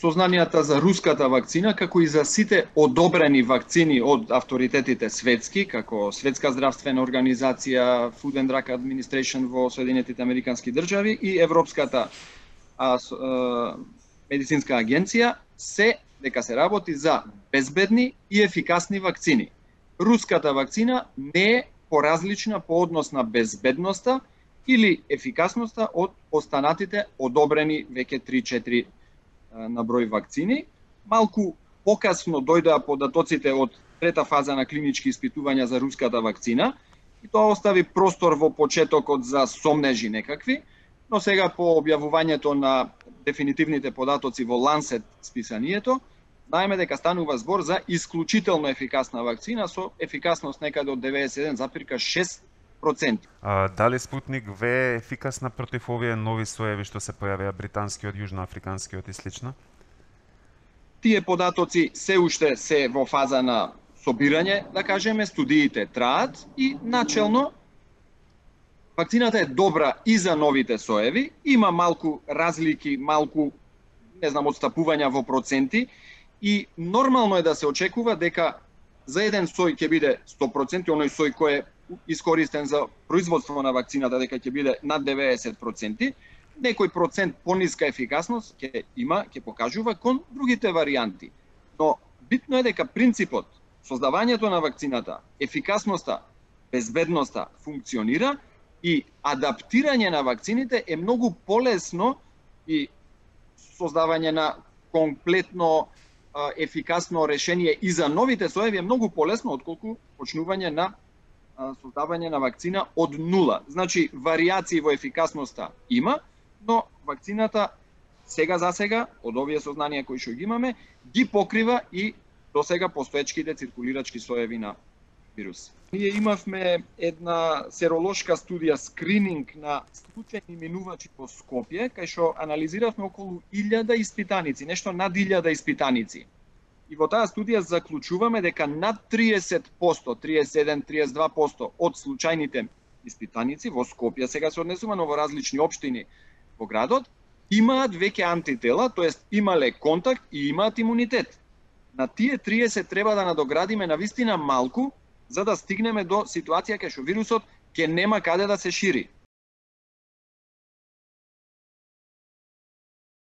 сознанијата за руската вакцина, како и за сите одобрени вакцини од авторитетите светски, како Светска здравствена организација, Food and Drug Administration во Соединетите Американски држави и Европската медицинска агенција, се дека се работи за безбедни и ефикасни вакцини. Руската вакцина не е поразлична по однос на безбедноста или ефикасноста од останатите одобрени веќе 3-4 на број вакцини. Малку покасно дојдоа податоците од трета фаза на клинички испитувања за руската вакцина и тоа остави простор во почетокот за сомнежи некакви, но сега по објавувањето на дефинитивните податоци во Lancet списанието, знаеме дека станува збор за исклучително ефикасна вакцина со ефикасност некаде од 91,6%. Дали Спутник В е ефикасна против овие нови соеви што се појавија, британскиот, јужноафриканскиот и слично? Тие податоци се уште се во фаза на собирање, да кажеме, студиите траат и начелно вакцината е добра и за новите соеви, има малку разлики, малку, отстапувања во проценти и нормално е да се очекува дека за еден сој ќе биде 100%, оној сој кој е искористен за производство на вакцината дека ќе биде над 90%, некој процент пониска ефикасност ќе покажува кон другите варијанти. Но битно е дека принципот, создавањето на вакцината, ефикасноста, безбедноста функционира и адаптирање на вакцините е многу полесно и создавање на комплетно ефикасно решение и за новите соеви е многу полесно отколку почнување на создавање на вакцина од нула. Значи, варијации во ефикасноста има, но вакцината сега за сега, од овие сознанија кои што ги имаме, ги покрива и досега постоечките циркулирачки соеви на вирус. Ние имавме една серолошка студија, скрининг на случајни минувачи по Скопје, кај што анализиравме околу 1000 испитаници, нешто над 1000 испитаници. И во таа студија заклучуваме дека над 30%, 31-32% од случајните испитаници во Скопје, сега се однесувано во различни општини во градот, имаат веќе антитела, тоест имале контакт и имаат имунитет. На тие 30 треба да надоградиме навистина малку, за да стигнеме до ситуација кај што вирусот ќе нема каде да се шири.